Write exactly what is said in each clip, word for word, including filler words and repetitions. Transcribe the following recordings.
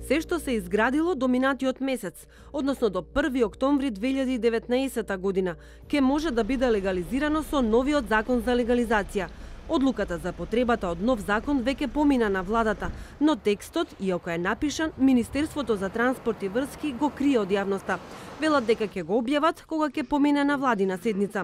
Се што се изградило до минатиот месец, односно до први октомври две илјади и деветнаесета година, ќе може да биде легализирано со новиот закон за легализација. Одлуката за потребата од нов закон веќе помина на владата, но текстот, иако е напишан, Министерството за транспорт и врски го крие од јавноста. Велат дека ќе го објават кога ќе помине на владина седница.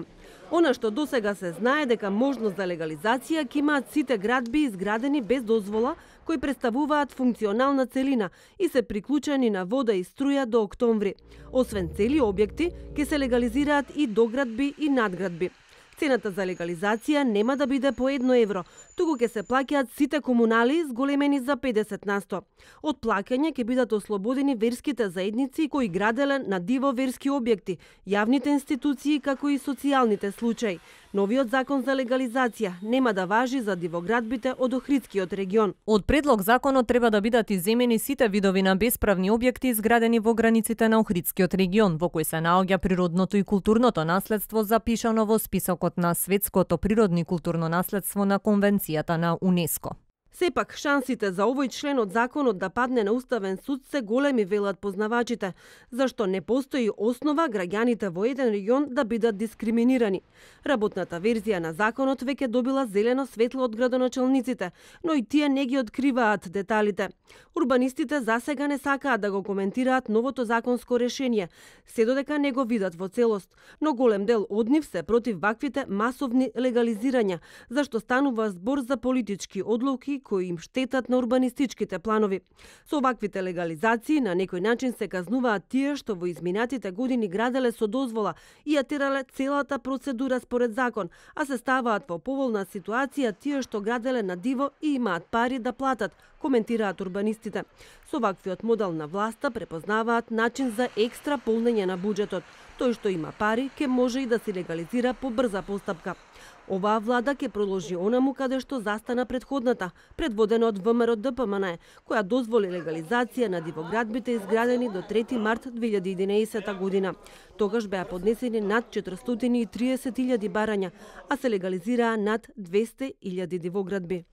Она што досега се знае дека можност за легализација ќе имаат сите градби изградени без дозвола, кои представуваат функционална целина и се приклучени на вода и струја до октомври. Освен цели објекти, ќе се легализираат и доградби и надградби. Цената за легализација нема да биде по едно евро, туку ќе се плаќаат сите комунали зголемени за педесет на сто. Од плаќање ќе бидат ослободени верските заедници кои граделе на диво верски објекти, јавните институции како и социјалните случаи. Новиот закон за легализација нема да важи за дивоградбите од Охридскиот регион. Од предлог законот треба да бидат изземени сите видови на бесправни објекти изградени во границите на Охридскиот регион, во кој се наоѓа природното и културното наследство запишано во списокот на светското природно и културно наследство на Конвенцијата на УНЕСКО. Сепак, шансите за овој член од законот да падне на Уставен суд се големи, велат познавачите, зашто не постои основа граѓаните во еден регион да бидат дискриминирани. Работната верзија на законот веќе добила зелено светло од градоначалниците, но и тие не ги откриваат деталите. Урбанистите засега не сакаат да го коментираат новото законско решение, се додека не го видат во целост, но голем дел од нив се против ваквите масовни легализирања, зашто станува збор за политички одлуки кои им штетат на урбанистичките планови. Со ваквите легализации на некој начин се казнуваат тие што во изминатите години граделе со дозвола и ја терале целата процедура според закон, а се ставаат во поволна ситуација тие што граделе на диво и имаат пари да платат, коментираат урбанистите. Со ваквиот модел на власта препознаваат начин за екстра полнење на буџетот. Тој што има пари ќе може и да се легализира по брза постапка. Оваа влада ќе продолжи онаму каде што застана предходната, предводена од ВМРО Д П М Н, која дозволи легализација на дивоградбите изградени до трети март две илјади и единаесета година. Тогаш беа поднесени над четиристотини и триесет илјади барања, а се легализираа над двесте илјади дивоградби.